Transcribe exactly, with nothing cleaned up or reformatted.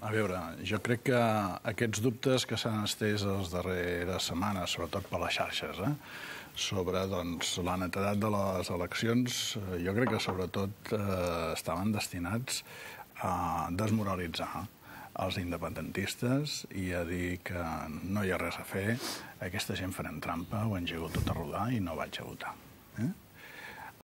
a veure, jo crec que aquests dubtes que s'han estès les darreres setmanes, sobretot per les xarxes, eh, sobre doncs, la netedat de les eleccions, jo crec que sobretot eh, estaven destinats a desmoralitzar els independentistes i a dir que no hi ha res a fer, aquesta gent farem trampa, ho han gegut tot a rodar i no vaig a votar. Eh?